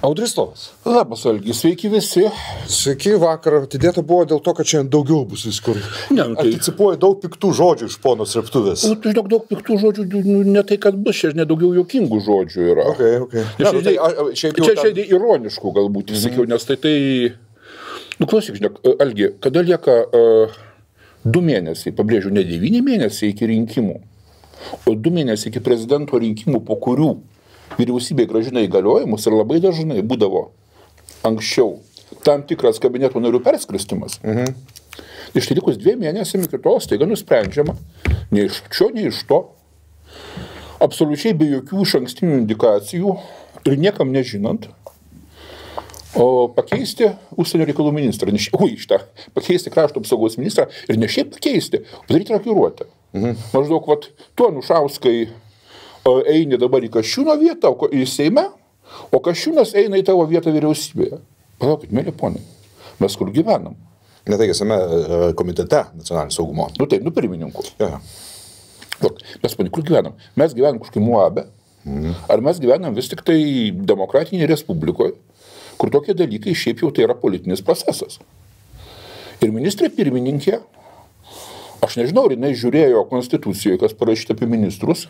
Audris Stovas. Labas, Algi, sveiki visi. Sveiki, vakar atidėta buvo dėl to, kad šiandien daugiau bus viskur. Ne, tai... Anticipuoja daug piktų žodžių iš pono Srėptuvės. Tai daug piktų žodžių, ne tai, kad bus, čia nedaugiau juokingų žodžių yra. Okay. Čia ironiškų galbūt, sakiau, nes tai... Nu, klausyk, žinok, Algi, kada lieka 2 mėnesiai, pabrėžiu, ne 9 mėnesiai iki rinkimų, o 2 mėnesiai iki prezidento rinkimų, po kurių vyriausybė grąžina įgaliojimus ir labai dažnai būdavo anksčiau tam tikras kabineto narių perskirstimas. Iš tai likus 2 mėnesiams iki to staiga nusprendžiama, nei iš čia, nei iš to, absoliučiai be jokių išankstinių indikacijų ir niekam nežinant, o pakeisti užsienio reikalų ministrą, pakeisti krašto apsaugos ministrą ir ne šiaip pakeisti, padaryti rokiruotę. Maždaug, tu Anušauskai eini dabar į Kasčiūno vietą, į Seime, o Kasčiūnas eina į tavo vietą vyriausybėje. Palaukit, mėly ponai, mes kur gyvenam? Ne tai, esame komitete nacionalinio saugumo. Taip, pirmininku. Mes, ponai, kur gyvenam? Mes gyvenam kažkai Muabe, ar mes gyvenam vis tik tai demokratinėje respublikoje, kur tokie dalykai šiaip jau tai yra politinis procesas. Ir ministrė pirmininkė, aš nežinau, ar jinai žiūrėjo konstitucijoje, kas parašyta apie ministrus,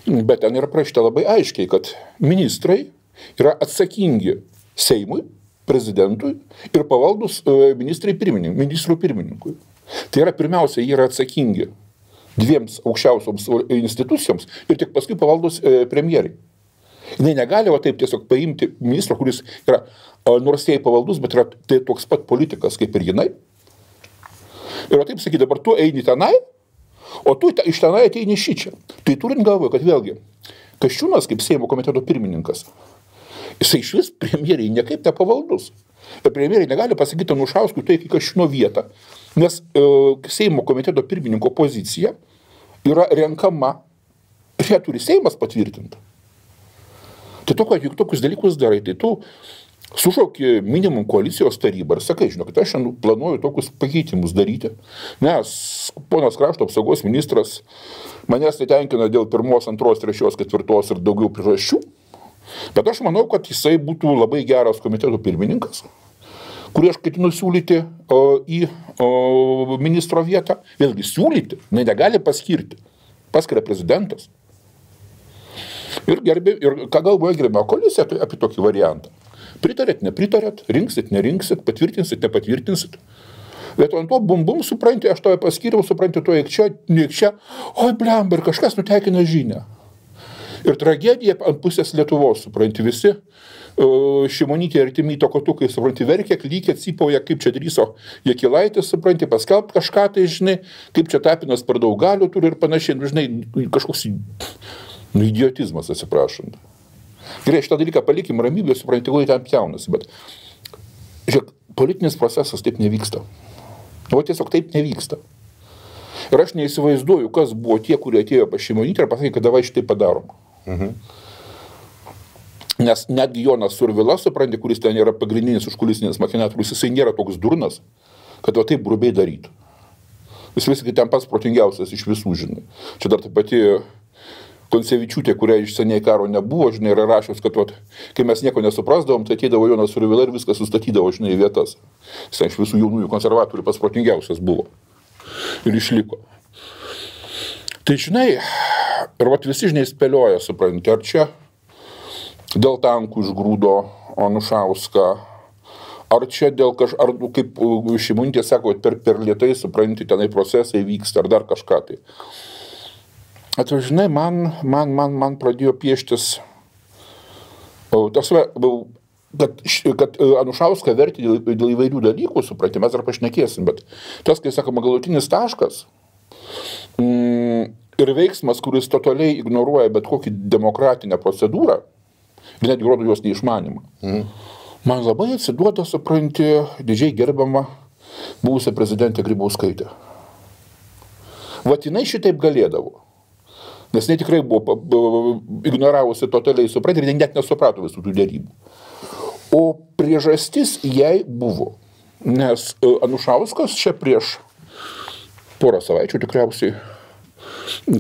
bet ten yra parašyta labai aiškiai, kad ministrai yra atsakingi Seimui, prezidentui ir pavaldus ministrų pirmininkui. Tai yra pirmiausia, jie yra atsakingi 2 aukščiausioms institucijoms ir tik paskui pavaldus premjerai. Jis negali taip tiesiog paimti ministro, kuris yra nors jai pavaldus, bet yra tai toks pat politikas kaip ir jinai. Ir taip sakyti, dabar tu eini tenai, o tu iš tenai ateini šičia. Tai turint galvoje, kad vėlgi, Kasčiūnas kaip Seimo komiteto pirmininkas, jisai iš vis premjeriai niekaip nepavaldus. Ir premjeriai negali pasakyti Anušauskui tai į Kasčiūno vietą, nes Seimo komiteto pirmininko pozicija yra renkama ir ją turi Seimas patvirtinti. Tai tokius dalykus darai, tai tu sušauki minimum koalicijos tarybą ir sakai, žinok, aš šiandien planuoju tokius pakeitimus daryti, nes ponas krašto apsaugos ministras manęs netenkina dėl 1, 2, 3, 4 ir daugiau priežasčių, bet aš manau, kad jisai būtų labai geras komiteto pirmininkas, kurį aš ketinu siūlyti į ministro vietą, vėlgi siūlyti, negali paskirti, paskiria prezidentas. Ir ką galvoja gerbimo koalicija apie tokį variantą. Pritarėt, nepritarėt, rinksit, nerinksit, patvirtinsit, nepatvirtinsit. Bet ant to bum, supranti, aš tave paskyriau, supranti, to neik čia, oi blemba, ir kažkas nutekina žinią. Ir tragedija ant pusės Lietuvos, supranti, visi Šimonytė artimi tokotukai, supranti, verkė, klykė, cypauja, kaip čia drįso Jakilaitis, supranti, paskelbt kažką, tai žinai, kaip čia Tapinas per daug galių turi ir panašiai, žinai, kažkoks idiotizmas, atsiprašant. Gerai, šitą dalyką palikim ramybę, supranti, kai ten pjaunasi, bet žiūrėk, politinis procesas taip nevyksta. Tiesiog taip nevyksta. Ir aš neįsivaizduoju, kas buvo tie, kurie atėjo pas Šimonytę ir pasakė, kad davai šitai padarom. Nes netgi Jonas Survila, supranti, kuris ten yra pagrindinis užkulisinis machinatorius, jisai nėra toks durnas, kad taip grubiai darytų. Jis viskai ten pats protingiausias iš visų, žinai. Čia dar taip pati Koncevičiūtė, kuria iš seniai karo nebuvo, žinai, yra rašęs, kad kai mes nieko nesuprasdavom, tai ateidavo Jonas Survila ir viską sustatydavo, žinai, į vietas. Jis iš visų jaunųjų konservatorių pats protingiausias buvo. Ir išliko. Tai, žinai, ir visi, žinai, spėlioja, supranti, ar čia dėl tankų išgrūdo Anušauską, ar čia dėl ar kaip Šimonytė sako, per lėtai, supranti, tenai procesai vyksta, ar dar kažką tai. Žinai, man pradėjo pieštis, kad Anušauską verti dėl įvairių dalykų, supranti, mes dar pašnekėsim, bet tas, kai sakoma, galutinis taškas ir veiksmas, kuris totaliai ignoruoja bet kokį demokratinę procedūrą, ir netgi rodo jos neišmanimą. Man labai atsiduoda, supranti, didžiai gerbiama buvusią prezidentę Grybauskaitę. Jinai šitaip galėdavo. Nes jinai tikrai buvo ignoravusi totaliai, supranti, ir net nesuprato visų tų derybų. O priežastis jai buvo, nes Anušauskas čia prieš porą savaičių tikriausiai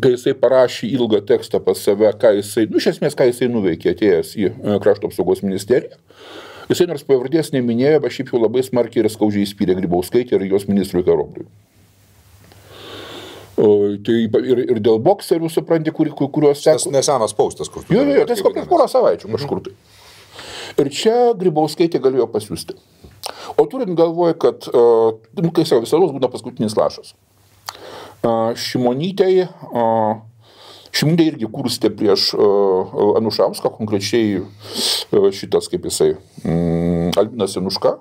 kai jisai parašė ilgą tekstą pas save, ką jisai nuveikė atėjęs į Krašto apsaugos ministeriją. Jisai nors pavardės neminėjo, bet šiaip jau labai smarkiai ir skaudžiai įspyrė Grybauskaitę ir jos ministrui Karobliui. Tai ir dėl bokserių, supranti, kuriuos Tas nesenas paustas, kur tu... Jo, tiesiog prieš porą savaičių kažkur tai. Ir čia Grybauskaitė galėjo pasiūsti. O turint galvoje, kad, kai savo visados būna paskutinis lašas. Šimonytė irgi kurstė prieš Anušauską, konkrečiai šitas, kaip jisai, Albinas Januška,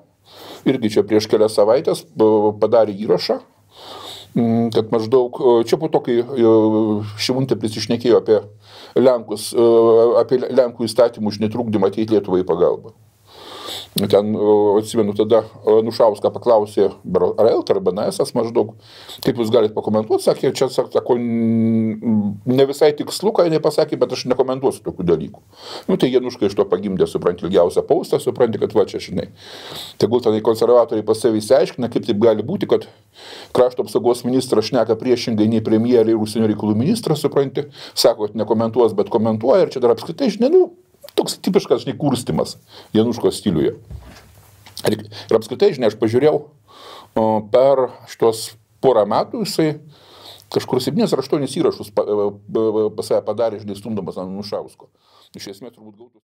irgi čia prieš kelias savaitės padarė įrašą, kad maždaug, čia po to, kai Šimonytė prisišnekėjo apie Lenkų įstatymų už netrukdymą ateiti Lietuvai į pagalbą. Ten, atsimenu, tada Anušauską paklausė, ar ELT, ar BNS maždaug, kaip jūs galite pakomentuoti, sakė, čia, sako, ne visai tikslu, ką jinai pasakė, bet aš nekomentuosiu tokių dalykų. Tai Januška iš to pagimdė, supranti, ilgiausią paustą, supranti, kad va čia, žinai. Tegul tenai konservatoriai pas savį išsiaiškina, kaip taip gali būti, kad Krašto apsaugos ministras šneka priešingai nei premjerė ir užsienio reikalų ministras, supranti, sako, kad nekomentuos, bet komentuoja, ir čia dar apskritai, žinai, toks tipiškas, žinai, kurstimas Januškos stiliuje. Ir apskritai, žinai, aš pažiūrėjau, per šitos porą metų jisai kažkur 7 ar 8 įrašus pas save padarė, žinai, stumdamas ant Anušausko. Iš esmės turbūt gautų...